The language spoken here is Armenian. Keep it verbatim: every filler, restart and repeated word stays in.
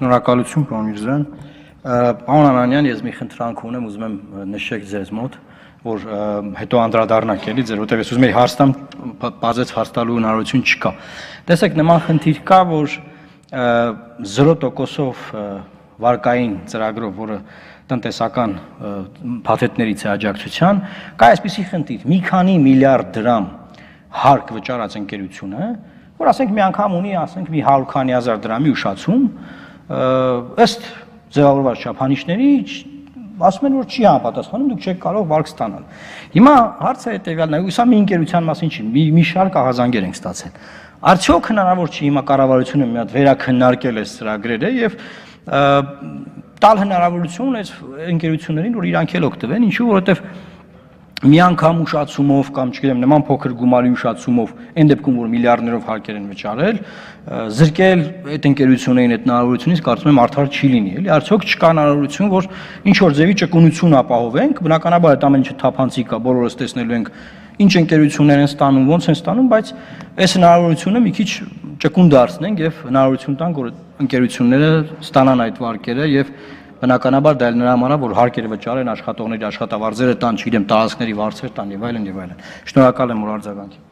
Շնորհակալություն, պարոն Միրզոյան։ Պարոն Անանյան, ես մի խնդրանք ունեմ, ուզում եմ նշեք ձեզ մոտ, որ հետո անդրադառնանք էլի ձեր, որտեղ ես ուզում եի հարց տամ, բացեց հարց տալու հնարավորություն չկա։ Տեսեք, նման խնդիր կա, որ զրո տոկոսով վարկային ծրագրով, որը տնտեսական փաթեթներից է աջակցության, կա այսպիսի խնդիր՝ մի քանի միլիարդ դրամ հարկ վճարած ընկերությունը, որ ասենք մի անգամ ունի, ասենք մի հարյուր քանի հազար դրամի ուշացում, ըստ ձևավորված չափանիշների, ասում են, որ չի համապատասխանում, դուք չեք կարող վարկ ստանալ։ Հիմա հարցը հետևյալն է, սա մի ընկերության մասին չի, մի շարք ահազանգեր ենք ստացել։ Արդյոք հնարավոր չի հիմա կառավարությունը մի հատ վերաքննարկել այս ծրագրերը եւ տալ հնարավորություն այս ընկերություններին, որ իրանք էլ օգտվեն, ինչու, որովհետեւ մի անգամ ուշացումով կամ չգիտեմ նման փոքր գումարի ուշացումով այն դեպքում որ միլիարդներով հարկեր են վճարել զրկել այդ ընկերություններին այդ հնարավորությունից կարծում եմ արդար չի լինի էլի արդյոք չկա հնարավորություն որ ինչ որ ձևի ճկունություն ապահովենք բնականաբար այդ ամեն ինչը թափանցիկ է բոլորս տեսնելու ենք ինչ ընկերություններ են ստանում ոնց են ստանում բայց այս հնարավորությունը մի քիչ ճկուն դարձնենք եւ հնարավորություն տանք որ ընկերությունները ստանան այդ վարկերը եւ Բնականաբար դա էլ նրա համար է, որ հարկերը վճարեն, աշխատողների աշխատավարձերը տան, չգիտեմ, տարածքների վարձեր տան եւ այլն եւ այլն։ Շնորհակալ եմ, որ արձագանքի։